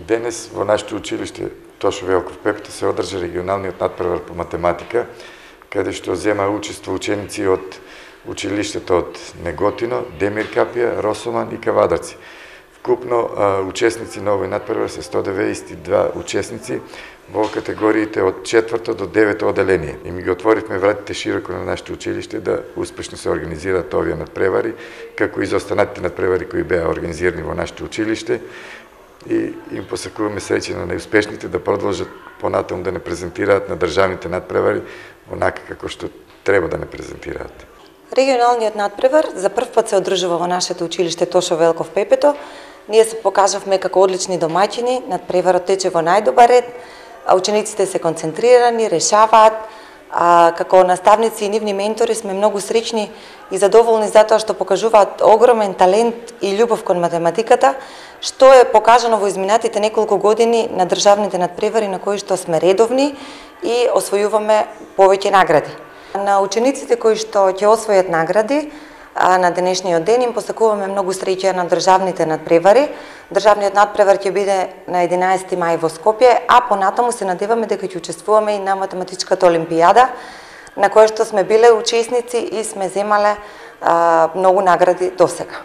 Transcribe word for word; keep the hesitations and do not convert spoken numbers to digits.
Денес во нашето училиште Тошо Велков Пепето се одржа регионалниот надпревар по математика, каде што зема учество ученици од училиштето од Неготино, Демир Капија, Росоман и Кавадарци. Вкупно учесници на овој надпревар се сто деветдесет и два учесници во категориите од четврто до девето оделение. И ми ги отворивме вратите широко на нашето училиште да успешно се организираат овие надпревари, како и за останатите надпревари кои беа организирани во нашето училиште. И им посакуваме среќа на најуспешните да продолжат понатаму да не презентираат на државните надпревари онака како што треба да не презентираат. Регионалниот надпревар за прв пат се одржува во нашето училиште Тошо Велков Пепето. Ние се покажавме како одлични домаќини, надпреварот тече во најдобар ред, а учениците се концентрирани, решаваат, а како наставници и нивни ментори сме многу среќни и задоволни затоа што покажуваат огромен талент и љубов кон математиката, што е покажано во изминатите неколку години на државните надпревари на кои што сме редовни и освојуваме повеќе награди. На учениците кои што ќе освојат награди на денешниот ден им посакуваме многу среќа на државните надпревари. Државниот надпревар ќе биде на единаесети мај во Скопје, а понатаму се надеваме дека ќе учествуваме и на математичката олимпијада, на која што сме биле учесници и сме земале а, многу награди досега.